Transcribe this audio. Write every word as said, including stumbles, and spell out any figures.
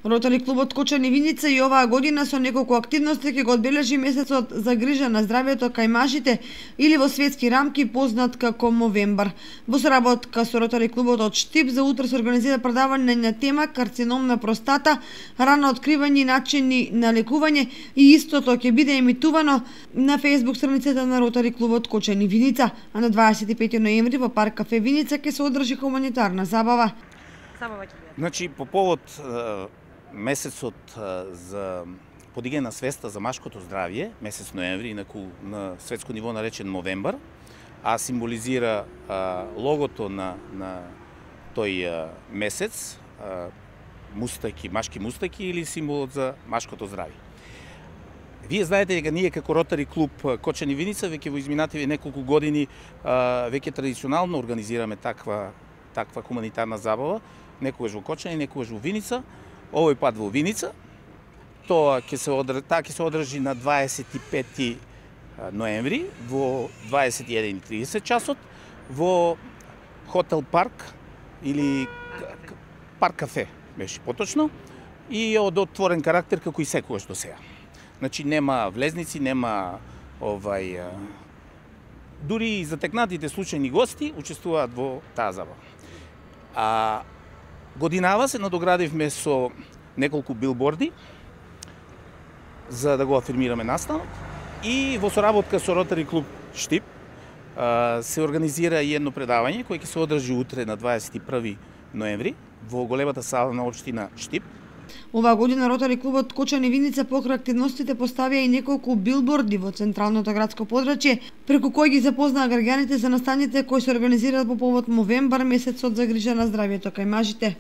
Ротари клубот Кочани Виница и оваа година со неколку активности ќе го одбележи месецот за грижа на здравјето кај мажите или во светски рамки познат како Мовембар. Во соработка со Ротари клубот од Штип за утре се организира предавање на тема карцином на простата, рано откривање и начини на лекување и истото ќе биде емитувано на фејсбук страницата на Ротари клубот Кочани Виница, а на дваесет и пети ноември во парк кафе Виница ќе се одржи хуманитарна забава. Значи, по повод месецот за подигање на свеста за машкото здравје, месец ноември, инаку на светско ниво наречен Мовембар, а символизира а, логото на, на тој а, месец, а, мустаки, машки мустаки или символот за машкото здравје. Вие знаете дека ние како Ротари клуб Кочани Виница веќе во изминативе неколку години а, веќе традиционално организираме таква таква хуманитарна забава, некогаш во Кочани, некогаш во Виница. Овој пат во Виница. Тоа ќе се одржи, таа ќе се одржи на дваесет и пети ноември во дваесет и еден и тридесет часот во Хотел Парк или Парк кафе беше поточно и од отворен карактер како и секогаш до сега. Значи нема влезници, нема овај дури и затекнатите случајни гости учествуваат во таа забава. А годинава се надоградивме со неколку билборди за да го афирмираме настанот и во соработка со Ротари клуб Штип се организира и едно предавање кое ќе се одржи утре на дваесет и први ноември во големата сала на општина Штип. Оваа година Ротари клубот Кочани Виница покрај активностите поставија и неколку билборди во централното градско подрачје, преку кои ги запознаа граѓаните за настаните кои се организираат по повод Мовембар, месецот за грижа на здравјето кај мажите.